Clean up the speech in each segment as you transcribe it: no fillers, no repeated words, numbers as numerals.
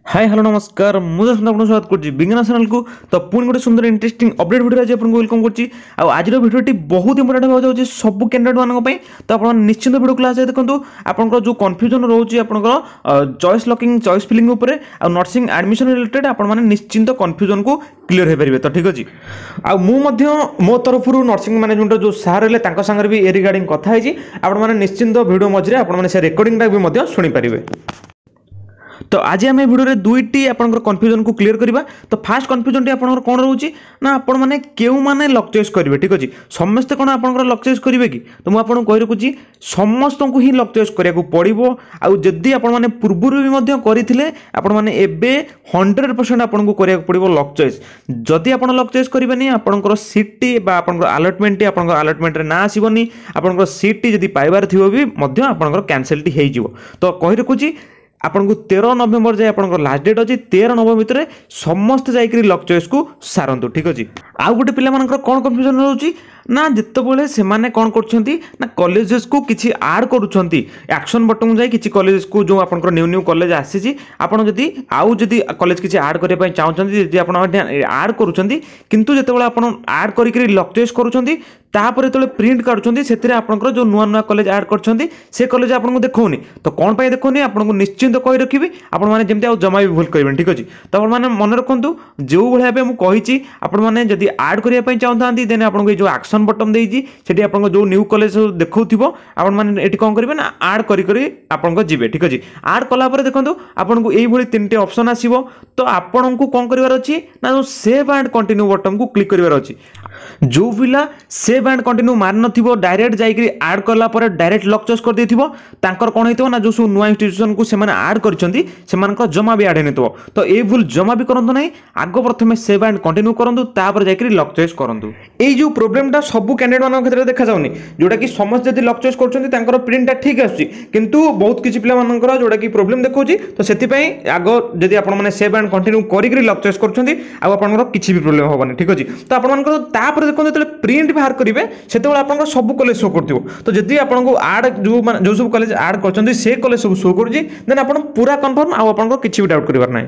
High, hello, ନମସ୍କାର। ମୁଁ ଦର୍ଶନ ଆପଣଙ୍କୁ ସ୍ୱାଗତ କରୁଛି ବିଜ୍ଞାନ ଚ୍ୟାନେଲକୁ। ତ ପୁଣି ଗୋଟେ ସୁନ୍ଦର ଇଣ୍ଟରେଷ୍ଟିଂ ଅପଡେଟ୍ ଭିଡ଼ିଓ ଆଜି ଆପଣଙ୍କୁ welcome କରୁଛି। ଆଉ ଆଜିର ଭିଡ଼ିଓଟି ବହୁତ ଇମ୍ପୋର୍ଟାଣ୍ଟ ହେବାକୁ ଯାଉଛି ସବୁ କ୍ୟାଣ୍ଡିଡେଟ୍ ମାନଙ୍କ ପାଇଁ। ତ ଆପଣ ନିଶ୍ଚିନ୍ତ ଭିଡ଼ିଓ କ୍ଲାସ୍ ଯାଏ ଦେଖନ୍ତୁ। ଆପଣଙ୍କର ଯେଉଁ କନଫ୍ୟୁଜନ୍ ରହୁଛି ଆପଣଙ୍କର ଚଏସ୍ ଲକିଂ, ଚଏସ୍ ଫିଲିଂ ଉପରେ ଆଉ ନର୍ସିଂ ଆଡ଼ମିସନ୍ ରିଲେଟେଡ୍, ଆପଣମାନେ ନିଶ୍ଚିନ୍ତ କନଫ୍ୟୁଜନ୍କୁ କ୍ଲିୟର ହୋଇପାରିବେ। ତ ଠିକ୍ ଅଛି, ଆଉ ମୁଁ ମଧ୍ୟ ମୋ ତରଫରୁ ନର୍ସିଂ ମ୍ୟାନେଜମେଣ୍ଟର ଯେଉଁ ସାର୍ ରହିଲେ, ତାଙ୍କ ସାଙ୍ଗରେ ବି ଏ ରିଗାର୍ଡ଼ିଂ କଥା ହେଇଛି। ଆପଣମାନେ ନିଶ୍ଚିନ୍ତ ଭିଡ଼ିଓ ମଝିରେ ଆପଣମାନେ ସେ ରେକର୍ଡ଼ିଂଟା ବି ମଧ୍ୟ ଶୁଣିପାରିବେ। ତ ଆଜି ଆମେ ଭିଡ଼ିଓରେ ଦୁଇଟି ଆପଣଙ୍କର କନଫ୍ୟୁଜନକୁ କ୍ଲିୟର କରିବା। ତ ଫାର୍ଷ୍ଟ କନଫ୍ୟୁଜନଟି ଆପଣଙ୍କର କ'ଣ ରହୁଛି ନା, ଆପଣମାନେ କେଉଁମାନେ ଲକ୍ ଚଏସ୍ କରିବେ? ଠିକ୍ ଅଛି, ସମସ୍ତେ କ'ଣ ଆପଣଙ୍କର ଲକ୍ ଚଏସ୍ କରିବେ କି? ତ ମୁଁ ଆପଣଙ୍କୁ କହି ରଖୁଛି, ସମସ୍ତଙ୍କୁ ହିଁ ଲକ୍ ଚଏସ୍ କରିବାକୁ ପଡ଼ିବ। ଆଉ ଯଦି ଆପଣମାନେ ପୂର୍ବରୁ ବି ମଧ୍ୟ କରିଥିଲେ, ଆପଣମାନେ ଏବେ 100% ଆପଣଙ୍କୁ କରିବାକୁ ପଡ଼ିବ ଲକ୍ ଚଏସ୍। ଯଦି ଆପଣ ଲକ୍ ଚଏସ୍ କରିବେନି, ଆପଣଙ୍କର ସିଟ୍ଟି ବା ଆପଣଙ୍କର ଆଲଟମେଣ୍ଟଟି ଆପଣଙ୍କ ଆଲଟମେଣ୍ଟରେ ନାଁ ଆସିବନି। ଆପଣଙ୍କର ସିଟ୍ଟି ଯଦି ପାଇବାର ଥିବ ବି ମଧ୍ୟ ଆପଣଙ୍କର କ୍ୟାନସେଲ୍ଟି ହେଇଯିବ। ତ କହି ରଖୁଛି, ଆପଣଙ୍କୁ 13 ନଭେମ୍ବର ଯାଏ ଆପଣଙ୍କର ଲାଷ୍ଟ ଡେଟ୍ ଅଛି। 13 ନଭେମ୍ବର ଭିତରେ ସମସ୍ତେ ଯାଇକରି ଲକ୍ ଚଏସ୍କୁ ସାରନ୍ତୁ। ଠିକ୍ ଅଛି, ଆଉ ଗୋଟେ ପିଲାମାନଙ୍କର କ'ଣ କନଫ୍ୟୁଜନ୍ ରହୁଛି ନା, ଯେତେବେଳେ ସେମାନେ କ'ଣ କରୁଛନ୍ତି ନା, କଲେଜେସ୍କୁ କିଛି ଆଡ଼୍ କରୁଛନ୍ତି, ଆକ୍ସନ୍ ବଟନ୍କୁ ଯାଇ କିଛି କଲେଜେସ୍କୁ, ଯେଉଁ ଆପଣଙ୍କର ନ୍ୟୁ ନ୍ୟୁ କଲେଜ ଆସିଛି, ଆପଣ ଯଦି ଆଉ ଯଦି କଲେଜ କିଛି ଆଡ଼୍ କରିବା ପାଇଁ ଚାହୁଁଛନ୍ତି, ଯଦି ଆପଣ ଆଡ଼୍ କରୁଛନ୍ତି, କିନ୍ତୁ ଯେତେବେଳେ ଆପଣ ଆଡ଼୍ କରିକିରି ଲକ୍ ଚଏସ୍ କରୁଛନ୍ତି, ତାପରେ ଯେତେବେଳେ ପ୍ରିଣ୍ଟ କାଢ଼ୁଛନ୍ତି, ସେଥିରେ ଆପଣଙ୍କର ଯେଉଁ ନୂଆ ନୂଆ କଲେଜ ଆଡ଼୍ କରିଛନ୍ତି, ସେ କଲେଜ ଆପଣଙ୍କୁ ଦେଖାଉନି। ତ କ'ଣ ପାଇଁ ଦେଖାଉନି? ଆପଣଙ୍କୁ ନିଶ୍ଚିନ୍ତ କହି ରଖିବି, ଆପଣମାନେ ଯେମିତି ଆଉ ଜମା ବି ଭୁଲ କରିବେନି। ଠିକ୍ ଅଛି, ତ ଆପଣମାନେ ମନେ ରଖନ୍ତୁ, ଯେଉଁଭଳି ଭାବେ ମୁଁ କହିଛି, ଆପଣମାନେ ଯଦି ଆଡ଼୍ କରିବା ପାଇଁ ଚାହୁଁଥାନ୍ତି, ଦେନ୍ ଆପଣଙ୍କୁ ଏଇ ଯେଉଁ ଆକ୍ସନ୍ ବଟନ୍ ଦେଇଛି, ସେଠି ଆପଣଙ୍କ ଯେଉଁ ନ୍ୟୁ କଲେଜ ସବୁ ଦେଖାଉଥିବ, ଆପଣମାନେ ଏଠି କ'ଣ କରିବେ ନା, ଆଡ଼୍ କରି କରି ଆପଣଙ୍କ ଯିବେ। ଠିକ୍ ଅଛି, ଆଡ଼୍ କଲା ପରେ ଦେଖନ୍ତୁ, ଆପଣଙ୍କୁ ଏଇଭଳି ତିନିଟି ଅପସନ୍ ଆସିବ। ତ ଆପଣଙ୍କୁ କ'ଣ କରିବାର ଅଛି ନା, ଯେଉଁ ସେଭ୍ ଆଣ୍ଡ କଣ୍ଟିନ୍ୟୁ ବଟନ୍କୁ କ୍ଲିକ୍ କରିବାର ଅଛି। ଯେଉଁ ପିଲା ସେଭ୍ ଆଣ୍ଡ କଣ୍ଟିନ୍ୟୁ ମାରିନଥିବ, ଡାଇରେକ୍ଟ ଯାଇକରି ଆଡ଼୍ କଲା ପରେ ଡାଇରେକ୍ଟ ଲକ୍ ଚଏସ୍ କରିଦେଇଥିବ, ତାଙ୍କର କ'ଣ ହେଇଥିବ ନା, ଯେଉଁ ସବୁ ନୂଆ ଇନଷ୍ଟିଟ୍ୟୁସନକୁ ସେମାନେ ଆଡ଼୍ କରିଛନ୍ତି, ସେମାନଙ୍କର ଜମା ବି ଆଡ଼୍ ହେଇନଥିବ। ତ ଏଇ ଭୁଲ ଜମା ବି କରନ୍ତୁ ନାହିଁ। ଆଗ ପ୍ରଥମେ ସେଭ୍ ଆଣ୍ଡ କଣ୍ଟିନ୍ୟୁ କରନ୍ତୁ, ତାପରେ ଯାଇକରି ଲକ୍ ଚଏସ୍ କରନ୍ତୁ। ଏଇ ଯେଉଁ ପ୍ରୋବ୍ଲେମଟା ସବୁ କ୍ୟାଣ୍ଡିଡେଟ୍ମାନଙ୍କ କ୍ଷେତ୍ରରେ ଦେଖାଯାଉନି, ଯେଉଁଟାକି ସମସ୍ତେ ଯଦି ଲକ୍ ଚଏସ୍ କରୁଛନ୍ତି, ତାଙ୍କର ପ୍ରିଣ୍ଟଟା ଠିକ୍ ଆସୁଛି, କିନ୍ତୁ ବହୁତ କିଛି ପିଲାମାନଙ୍କର ଯେଉଁଟାକି ପ୍ରୋବ୍ଲେମ୍ ଦେଖାଉଛି। ତ ସେଥିପାଇଁ ଆଗ ଯଦି ଆପଣମାନେ ସେଭ୍ ଆଣ୍ଡ କଣ୍ଟିନ୍ୟୁ କରିକି ଲକ୍ ଚଏସ୍ କରୁଛନ୍ତି, ଆଉ ଆପଣଙ୍କର କିଛି ବି ପ୍ରୋବ୍ଲେମ୍ ହେବନି। ଠିକ୍ ଅଛି, ତ ଆପଣମାନଙ୍କର ତାପରେ ଦେଖନ୍ତୁ, ଯେତେବେଳେ ପ୍ରିଣ୍ଟ ବାହାର କରିବେ, ସେତେବେଳେ ଆପଣଙ୍କର ସବୁ କଲେଜ ଶୋ କରୁଥିବ। ତ ଯଦି ଆପଣଙ୍କୁ ଆଡ଼୍ ଯେଉଁ ମାନେ ଯେଉଁ ସବୁ କଲେଜ ଆଡ଼୍ କରିଛନ୍ତି, ସେ କଲେଜ ସବୁ ଶୋ କରୁଛି, ଦେନ୍ ଆପଣ ପୁରା କନଫର୍ମ, ଆଉ ଆପଣଙ୍କର କିଛି ବି ଡାଉଟ୍ କରିବାର ନାହିଁ।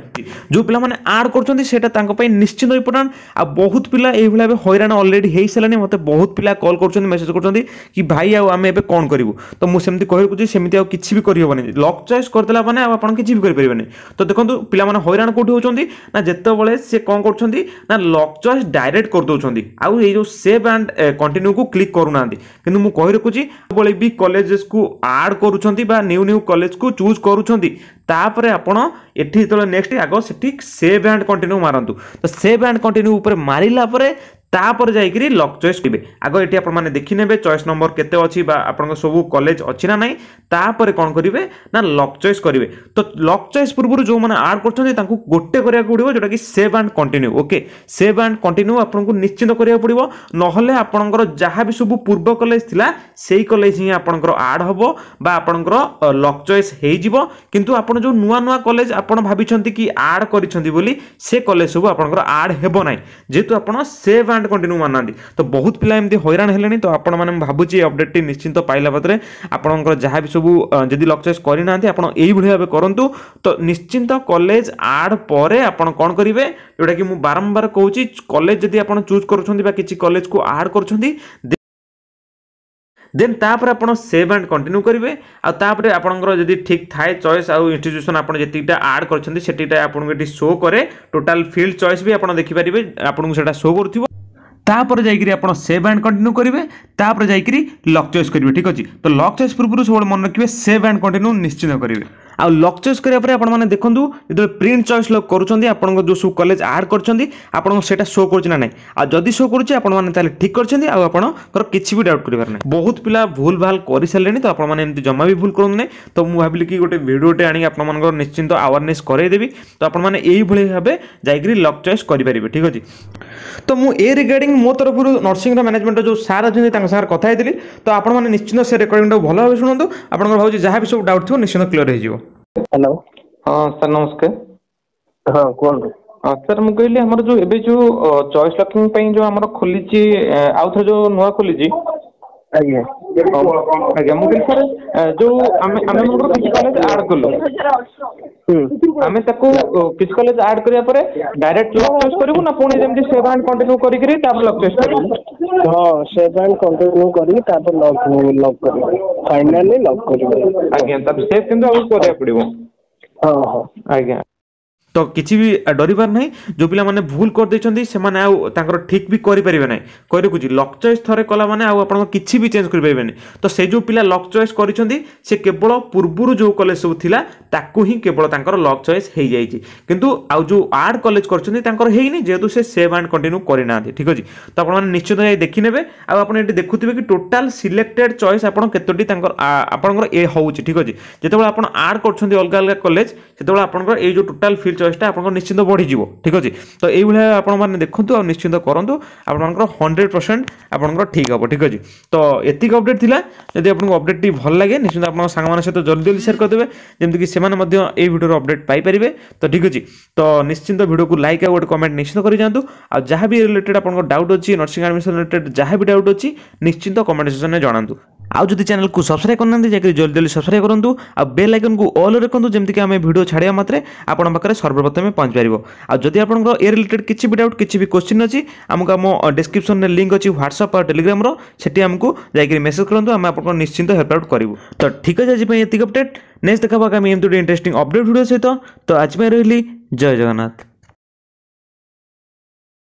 ଯେଉଁ ପିଲାମାନେ ଆଡ଼୍ କରୁଛନ୍ତି, ସେଇଟା ତାଙ୍କ ପାଇଁ ନିଶ୍ଚିନ୍ତ ଇମ୍ପୋର୍ଟାଣ୍ଟ। ଆଉ ବହୁତ ପିଲା ଏଇଭଳି ଭାବେ ହଇରାଣ ଅଲରେଡ଼ି ହେଇସାରିଲାଣି। ମୋତେ ବହୁତ ପିଲା କଲ୍ କରୁଛନ୍ତି, ମେସେଜ୍ କରୁଛନ୍ତି କି ଭାଇ, ଆଉ ଆମେ ଏବେ କ'ଣ କରିବୁ? ତ ମୁଁ ସେମିତି କହିରଖୁଛି, ସେମିତି ଆଉ କିଛି ବି କରିହେବନି। ଲକ୍ ଚଏସ୍ କରିଦେଲା ମାନେ ଆଉ ଆପଣ କିଛି ବି କରିପାରିବେନି। ତ ଦେଖନ୍ତୁ, ପିଲାମାନେ ହଇରାଣ କେଉଁଠି ହେଉଛନ୍ତି ନା, ଯେତେବେଳେ ସେ କ'ଣ କରୁଛନ୍ତି ନା, ଲକ୍ ଚଏସ୍ ଡାଇରେକ୍ଟ କରିଦେଉଛନ୍ତି ଆଉ ଏଇ ଯେଉଁ ସେଭ୍ ଆଣ୍ଡ କଣ୍ଟିନ୍ୟୁକୁ କ୍ଲିକ୍ କରୁନାହାନ୍ତି। କିନ୍ତୁ ମୁଁ କହି ରଖୁଛି, ଯେତେବେଳେ ବି କଲେଜେସକୁ ଆଡ଼୍ କରୁଛନ୍ତି ବା ନ୍ୟୁ ନ୍ୟୁ କଲେଜକୁ ଚୁଜ୍ କରୁଛନ୍ତି, ତାପରେ ଆପଣ ଏଠି ଯେତେବେଳେ ନେକ୍ସଟ, ଆଗ ସେଠି ସେଭ୍ ଆଣ୍ଡ କଣ୍ଟିନ୍ୟୁ ମାରନ୍ତୁ। ତ ସେଭ୍ ଆଣ୍ଡ କଣ୍ଟିନ୍ୟୁ ଉପରେ ମାରିଲା ପରେ ତାପରେ ଯାଇକରି ଲକ୍ ଚଏସ୍ କରିବେ। ଆଗ ଏଠି ଆପଣମାନେ ଦେଖିନେବେ ଚଏସ୍ ନମ୍ବର କେତେ ଅଛି ବା ଆପଣଙ୍କ ସବୁ କଲେଜ ଅଛି ନା ନାହିଁ। ତାପରେ କ'ଣ କରିବେ ନା, ଲକ୍ ଚଏସ୍ କରିବେ। ତ ଲକ୍ ଚଏସ୍ ପୂର୍ବରୁ ଯେଉଁମାନେ ଆଡ଼୍ କରୁଛନ୍ତି, ତାଙ୍କୁ ଗୋଟେ କରିବାକୁ ପଡ଼ିବ, ଯେଉଁଟାକି save and continue. Okay, save and continue ଆପଣଙ୍କୁ ନିଶ୍ଚିନ୍ତ କରିବାକୁ ପଡ଼ିବ, ନହେଲେ ଆପଣଙ୍କର ଯାହା ବି ସବୁ ପୂର୍ବ କଲେଜ ଥିଲା, ସେଇ କଲେଜ ହିଁ ଆପଣଙ୍କର ଆଡ଼୍ ହେବ ବା ଆପଣଙ୍କର ଲକ୍ ଚଏସ୍ ହେଇଯିବ। କିନ୍ତୁ ଆପଣ ଯେଉଁ ନୂଆ ନୂଆ କଲେଜ ଆପଣ ଭାବିଛନ୍ତି କି ଆଡ଼୍ କରିଛନ୍ତି ବୋଲି, ସେ କଲେଜ ସବୁ ଆପଣଙ୍କର ଆଡ଼୍ ହେବ ନାହିଁ, ଯେହେତୁ ଆପଣ ସେଭ୍ ଆଣ୍ଡ କଣ୍ଟିନ୍ୟୁ ମାନୁନାହାନ୍ତି। ତ ବହୁତ ପିଲା ଏମିତି ହଇରାଣ ହେଲେଣି। ତ ଆପଣମାନେ, ମୁଁ ଭାବୁଛି ଏ ଅପଡେଟ୍ଟି ନିଶ୍ଚିନ୍ତ ପାଇଲା ପରେ ଆପଣଙ୍କର ଯାହା ବି ସବୁ ଯଦି ଲକ୍ ଚଏସ୍ କରିନାହାନ୍ତି, ଆପଣ ଏଇଭଳି ଭାବେ କରନ୍ତୁ। ତ ନିଶ୍ଚିନ୍ତ କଲେଜ ଆଡ଼୍ ପରେ ଆପଣ କ'ଣ କରିବେ, ଯେଉଁଟାକି ମୁଁ ବାରମ୍ବାର କହୁଛି, କଲେଜ ଯଦି ଆପଣ ଚୁଜ୍ କରୁଛନ୍ତି ବା କିଛି କଲେଜକୁ ଆଡ଼୍ କରୁଛନ୍ତି, ଦେନ୍ ତାପରେ ଆପଣ ସେଭ୍ ଆଣ୍ଡ କଣ୍ଟିନ୍ୟୁ କରିବେ। ଆଉ ତାପରେ ଆପଣଙ୍କର ଯଦି ଠିକ୍ ଥାଏ ଚଏସ୍ ଆଉ ଇନଷ୍ଟିଟ୍ୟୁସନ୍ ଆପଣ ଯେତିକିଟା ଆଡ଼୍ କରିଛନ୍ତି, ସେତିକିଟା ଆପଣଙ୍କୁ ଏଠି ଶୋ କରେ। ଟୋଟାଲ୍ ଫିଲ୍ଡ ଚଏସ୍ ବି ଆପଣ ଦେଖିପାରିବେ, ଆପଣଙ୍କୁ ସେଇଟା ଶୋ କରୁଥିବ। ତାପରେ ଯାଇକରି ଆପଣ ସେଭ୍ ଆଣ୍ଡ କଣ୍ଟିନ୍ୟୁ କରିବେ, ତାପରେ ଯାଇକରି ଲକ୍ ଚଏସ୍ କରିବେ। ଠିକ୍ ଅଛି, ତ ଲକ୍ ଚଏସ୍ ପୂର୍ବରୁ ସବୁବେଳେ ମନେ ରଖିବେ, ସେଭ୍ ଆଣ୍ଡ କଣ୍ଟିନ୍ୟୁ ନିଶ୍ଚିନ୍ତ କରିବେ। ଆଉ ଲକ୍ ଚଏସ୍ କରିବା ପରେ ଆପଣମାନେ ଦେଖନ୍ତୁ, ଯେତେବେଳେ ପ୍ରିଣ୍ଟ ଚଏସ୍ ଲକ୍ କରୁଛନ୍ତି, ଆପଣଙ୍କ ଯେଉଁ ସବୁ କଲେଜ ଆଡ଼୍ କରିଛନ୍ତି, ଆପଣଙ୍କ ସେଇଟା ଶୋ କରୁଛି ନା ନାହିଁ। ଆଉ ଯଦି ଶୋ କରୁଛି, ଆପଣମାନେ ତାହେଲେ ଠିକ୍ କରିଛନ୍ତି, ଆଉ ଆପଣଙ୍କର କିଛି ବି ଡାଉଟ୍ କରିବାର ନାହିଁ। ବହୁତ ପିଲା ଭୁଲ ଭାଲ କରିସାରିଲେଣି, ତ ଆପଣମାନେ ଏମିତି ଜମା ବି ଭୁଲ କରନ୍ତୁ ନାହିଁ। ତ ମୁଁ ଭାବିଲି କି ଗୋଟେ ଭିଡ଼ିଓଟେ ଆଣିକି ଆପଣମାନଙ୍କର ନିଶ୍ଚିନ୍ତ ଆୱାରନେସ୍ କରାଇଦେବି। ତ ଆପଣମାନେ ଏଇଭଳି ଭାବେ ଯାଇକରି ଲକ୍ ଚଏସ୍ କରିପାରିବେ। ଠିକ୍ ଅଛି, ତ ମୁଁ ଏ ରିଗାର୍ଡ଼ିଂ ମୋ ତରଫରୁ ନର୍ସିଂର ମ୍ୟାନେଜମେଣ୍ଟର ଯେଉଁ ସାର୍ ଅଛନ୍ତି, ତାଙ୍କ ସାଙ୍ଗରେ କଥା ହେଇଥିଲି। ତ ଆପଣମାନେ ନିଶ୍ଚିନ୍ତ ସେ ରେକର୍ଡ଼ିଂଟାକୁ ଭଲ ଭାବେ ଶୁଣନ୍ତୁ। ଆପଣଙ୍କର ଭାବୁଛି ଯାହା ବି ସବୁ ଡାଉଟ୍ ଥିବ, ନିଶ୍ଚିନ୍ତ କ୍ଲିୟର ହେଇଯିବ। ହ୍ୟାଲୋ। ହଁ ସାର୍, ନମସ୍କାର। ହଁ, କୁହନ୍ତୁ। ହଁ ସାର୍, ମୁଁ କହିଲି ଆମର ଯେଉଁ ଏବେ ଯେଉଁ ଚଏସ୍ ଲକିଂ ପାଇଁ ଯେଉଁ ଆମର ଖୋଲିଛି, ଆଉ ଥରେ ଯେଉଁ ନୂଆ ଖୋଲିଛି, ଆଜ୍ଞା। ଆଜ୍ଞା, ମୁଁ କହିଲି ସାର୍, ଯୋଉ ଆମେ ମନେକର କିଛି କଲେଜ ଆଡ୍ କଲୁ, ଆମେ ତାକୁ କିଛି କଲେଜ ଆଡ୍ କରିବା ପରେ ଡାଇରେକ୍ଟ ଲକ୍ ଚଏସ୍ କରିବୁ ନା ପୁଣି ଯେମିତି ସେଭ୍ ଆଣ୍ଡ କଣ୍ଟିନ୍ୟୁ କରିକିରି ତାପରେ ଲକ୍ ଚଏସ୍ କରିବୁ? ହଁ, ସେଭ୍ ଆଣ୍ଡ କଣ୍ଟିନ୍ୟୁ କରିକି ତାପରେ ଲକ୍ କରିବେ, ଫାଇନାଲି ଲକ୍ କରିବେ। ଆଜ୍ଞା, ତାପରେ ସେଭ୍ କିନ୍ତୁ ଆଗକୁ କରିବାକୁ ପଡ଼ିବ? ହଁ। ଆଜ୍ଞା। ତ କିଛି ବି ଡରିବାର ନାହିଁ। ଯେଉଁ ପିଲାମାନେ ଭୁଲ କରିଦେଇଛନ୍ତି, ସେମାନେ ଆଉ ତାଙ୍କର ଠିକ୍ ବି କରିପାରିବେ ନାହିଁ। କହି ରଖୁଛି, ଲକ୍ ଚଏସ୍ ଥରେ କଲା ମାନେ ଆଉ ଆପଣଙ୍କ କିଛି ବି ଚେଞ୍ଜ କରିପାରିବେନି। ତ ସେ ଯେଉଁ ପିଲା ଲକ୍ ଚଏସ୍ କରିଛନ୍ତି, ସେ କେବଳ ପୂର୍ବରୁ ଯେଉଁ କଲେଜ ସବୁ ଥିଲା ତାକୁ ହିଁ କେବଳ ତାଙ୍କର ଲକ୍ ଚଏସ୍ ହେଇଯାଇଛି, କିନ୍ତୁ ଆଉ ଯେଉଁ ଆଡ୍ କଲେଜ କରିଛନ୍ତି ତାଙ୍କର ହେଇନି, ଯେହେତୁ ସେ ସେଭ୍ ଆଣ୍ଡ କଣ୍ଟିନ୍ୟୁ କରିନାହାନ୍ତି। ଠିକ୍ ଅଛି? ତ ଆପଣମାନେ ନିଶ୍ଚିତ ଯାଇ ଦେଖିନେବେ। ଆଉ ଆପଣ ଏଠି ଦେଖୁଥିବେ କି ଟୋଟାଲ ସିଲେକ୍ଟେଡ୍ ଚଏସ୍ ଆପଣ କେତୋଟି ତାଙ୍କର ଆପଣଙ୍କର ଏ ହେଉଛି। ଠିକ୍ ଅଛି? ଯେତେବେଳେ ଆପଣ ଆଡ୍ କରୁଛନ୍ତି ଅଲଗା ଅଲଗା କଲେଜ, ସେତେବେଳେ ଆପଣଙ୍କର ଏଇ ଯେଉଁ ଟୋଟାଲ ଫିଲ୍ ଚଏସ୍ଟା ଆପଣଙ୍କର ନିଶ୍ଚିନ୍ତ ବଢ଼ିଯିବ। ଠିକ୍ ଅଛି? ତ ଏଇଭଳିଆ ଆପଣମାନେ ଦେଖନ୍ତୁ ଆଉ ନିଶ୍ଚିନ୍ତ କରନ୍ତୁ, ଆପଣଙ୍କର 100% ଆପଣଙ୍କର ଠିକ୍ ହେବ। ଠିକ୍ ଅଛି? ତ ଏତିକି ଅପଡେଟ୍ ଥିଲା। ଯଦି ଆପଣଙ୍କୁ ଅପଡେଟ୍ଟି ଭଲ ଲାଗେ, ନିଶ୍ଚିନ୍ତ ଆପଣଙ୍କ ସାଙ୍ଗମାନଙ୍କ ସହିତ ଜଲ୍ଦି ଜଲ୍ଦି ସେୟାର କରିଦେବେ, ଯେମିତିକି ସେମାନେ ମଧ୍ୟ ଏଇ ଭିଡ଼ିଓର ଅପଡେଟ୍ ପାଇପାରିବେ। ତ ଠିକ୍ ଅଛି, ତ ନିଶ୍ଚିନ୍ତ ଭିଡ଼ିଓକୁ ଲାଇକ୍ ଆଉ ଗୋଟେ କମେଣ୍ଟ ନିଶ୍ଚିନ୍ତ କରିଯାଆନ୍ତୁ। ଆଉ ଯାହା ବି ରିଲେଟେଡ୍ ଆପଣଙ୍କ ଡାଉଟ୍ ଅଛି, ନର୍ସିଂ ଆଡ଼ମିସନ୍ ରିଲେଟେଡ୍ ଯାହା ବି ଡାଉଟ୍ ଅଛି, ନିଶ୍ଚିନ୍ତ କମେଣ୍ଟ ସେକ୍ସନରେ ଜଣାନ୍ତୁ। ଆଉ ଯଦି ଚ୍ୟାନେଲକୁ ସବସ୍କ୍ରାଇବ୍ କରିନାହାନ୍ତି, ଯାଇକରି ଜଲ୍ଦି ଜଲ୍ଦି ସବସ୍କ୍ରାଇବ୍ କରନ୍ତୁ ଆଉ ବେଲ୍ ଆଇକନ୍କୁ ଅଲ୍ ରଖନ୍ତୁ, ଯେମିତିକି ଆମେ ଭିଡ଼ିଓ ଛାଡ଼ିବା ମାତ୍ରେ ଆପଣଙ୍କ ପାଖରେ ସର୍ବପ୍ରଥମେ ପହଞ୍ଚିପାରିବ। ଆଉ ଯଦି ଆପଣଙ୍କର ଏ ରିଲେଟେଡ୍ କିଛି ବି ଡାଉଟ୍, କିଛି ବି କୋଶ୍ଚିନ୍ ଅଛି, ଆମକୁ ଆମ ଡିସ୍କ୍ରିପ୍ସନରେ ଲିଙ୍କ୍ ଅଛି ହ୍ୱାଟ୍ସଆପ୍ ଆଉ ଟେଲିଗ୍ରାମର, ସେଠି ଆମକୁ ଯାଇକରି ମେସେଜ୍ କରନ୍ତୁ, ଆମେ ଆପଣଙ୍କର ନିଶ୍ଚିନ୍ତ ହେଲ୍ପ ଆଉଟ୍ କରିବୁ। ତ ଠିକ୍ ଅଛି, ଆଜି ପାଇଁ ଏତିକି ଅପଡେଟ୍। ନେକ୍ସଟ ଦେଖା ଆମେ ଏମିତି ଗୋଟେ ଇଣ୍ଟରେଷ୍ଟିଂ ଅପଡେଟ୍ ଭିଡ଼ିଓ ସହିତ। ତ ଆଜି ପାଇଁ ରହିଲି, ଜୟ ଜଗନ୍ନାଥ।